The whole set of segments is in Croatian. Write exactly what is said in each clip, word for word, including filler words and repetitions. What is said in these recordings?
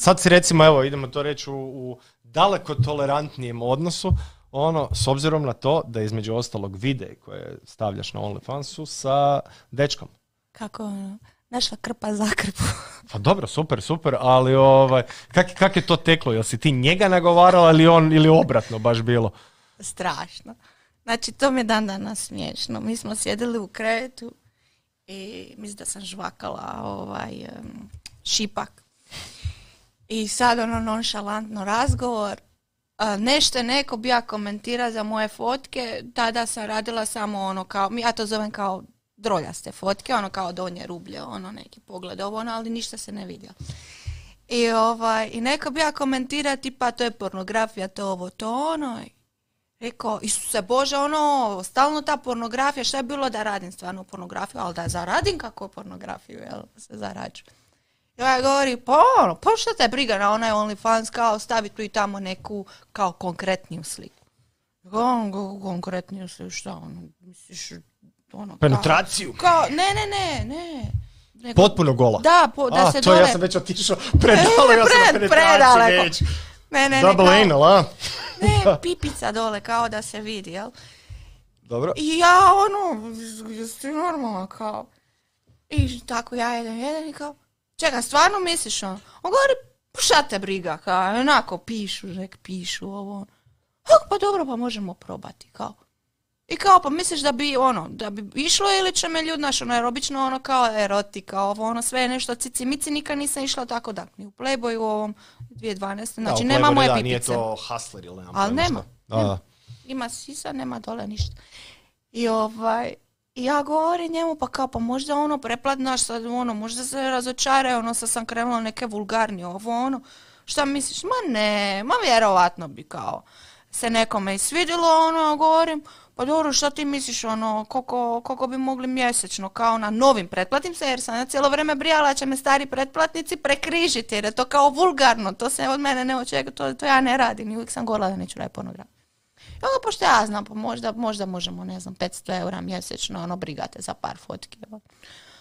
sad si recimo, evo, idemo to reći u, u daleko tolerantnijem odnosu, ono, s obzirom na to da između ostalog videi koje stavljaš na OnlyFansu sa dečkom. Kako ono, našla krpa za krpu. Pa dobro, super, super, ali ovaj, kak, kak je to teklo? Jel si ti njega nagovarala ili on, ili obratno baš bilo? Strašno. Znači, to mi je dan danas smiješno. Mi smo sjedili u krevetu i mislim da sam žvakala ovaj, um, šipak. I sad ono nonšalantno razgovor. A, nešto je neko bi ja komentira za moje fotke. Tada sam radila samo ono kao, ja to zovem kao droljaste fotke, ono kao donje rublje, ono neki pogled ovo, ono, ali ništa se ne vidio. I, ovaj, i neko bi ja komentira tipa to je pornografija, to ovo, to ono. Rekao, Isuse Bože, ono, stalno ta pornografija, šta je bilo da radim stvarno pornografiju, ali da zaradim kako pornografiju, jel, se zarađu. I ovaj govori, pa ono, pa šta te briga na onaj OnlyFans, kao stavi tu i tamo neku, kao konkretniju sliku. Ono, konkretniju sliku, šta ono, misliš, ono, penetraciju? Kao, kao, ne, ne, ne, ne. Nego, potpuno gola? Da, po, da a, se to dole... ja sam već otišao predalo, ja sam na penetraciji već. Ne, ne, Double ne, anal, a? Ne, pipica dole, kao da se vidi, jel? Dobro. I ja, ono, jesi normalno, kao... I tako ja jedan, jedan i kao... Čekaj, stvarno misliš ono? On govori, šta te briga, kao, onako pišu, nek pišu ovo. Pa dobro, pa možemo probati, kao. I kao, pa misliš da bi, ono, da bi išlo ili će me ljud, znaš, ono, jer obično ono kao erotika, ovo, ono, sve je nešto cici mici, nikad nisam išla tako da, ni u Playboyu u ovom dvije tisuće dvanaeste. Znači, da, nema moje da, pipice. Nije to hustler ili nema. Ali nema. Da, nema. da. Ima sisa, nema dole ništa. I ovaj, ja govorim njemu, pa kao, pa možda ono, preplatnaš sad, ono, možda se razočare, ono, sad sam krenula neke vulgarnije, ovo, ono, šta misliš? Ma ne, ma vjerovatno bi kao se nekome i svidjelo, ono, govorim, pa dobro, šta ti misliš, ono, koliko, koliko bi mogli mjesečno, kao na novim pretplatim se, jer sam ja cijelo vrijeme brijala će me stari pretplatnici prekrižiti, jer je to kao vulgarno, to se od mene ne očekuje, to, to ja ne radim i uvijek sam govorila da neću raditi pornografiju. I onda, pošto ja znam, pa možda, možda možemo, ne znam, petsto eura mjesečno, ono, brigate za par fotki.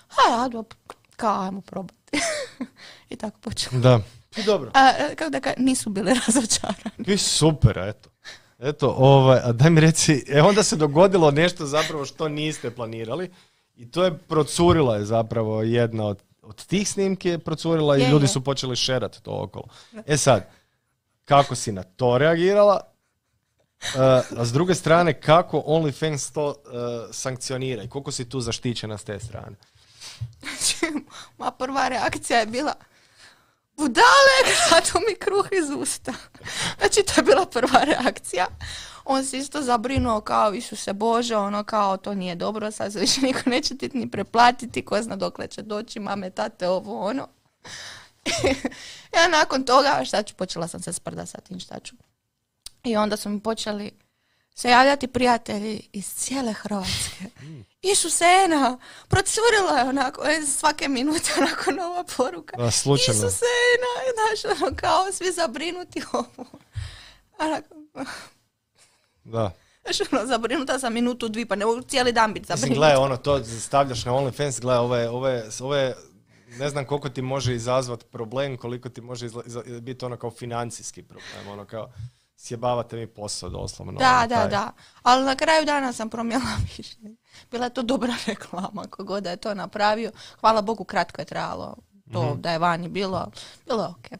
A ja, dobro, kao, ajmo probati. I tako počelo. Da, i dobro. A, kako da ka, nisu bili razočarani. I super, eto. Eto, ovaj, a daj mi reci, e onda se dogodilo nešto zapravo što niste planirali i to je procurila je zapravo jedna od, od tih snimki je procurila i je, ljudi je. su počeli šerati to okolo. E sad, kako si na to reagirala? Uh, a s druge strane, kako OnlyFans to uh, sankcionira i koliko si tu zaštićena s te strane? Znači, moja prva reakcija je bila budale, gradu mi kruh iz usta. Znači, to je bila prva reakcija. On se isto zabrinuo kao, Isuse Bože, ono kao, to nije dobro, sad se više niko neće ti ni preplatiti, ko zna dokle će doći, mame, tate, ovo, ono. Ja nakon toga, šta ću, počela sam se sprda sa tim, šta ću. I onda su mi počeli se javljati prijatelji iz cijele Hrvatske. Isusena, procurila je onako, svake minute onako nova poruka. Da, slučajno. Isusena, znaš, ono kao svi zabrinuti ovo. Onako, da. Znaš, ono, zabrinuta sam minutu, dvi, pa ne mogu cijeli dan biti zabrinuta. Mislim, gledaj, ono, to stavljaš na OnlyFans, gledaj, ove, ove, ove, ne znam koliko ti može izazvati problem, koliko ti može izla, izla, biti ono kao financijski problem, ono kao... Sjebavate mi posao doslovno. Da, da, da. Ali na kraju dana sam promijenila mišljenje. Bila je to dobra reklama, kogod da je to napravio. Hvala Bogu, kratko je trajalo to mm-hmm. da je vani bilo. Bilo je okej.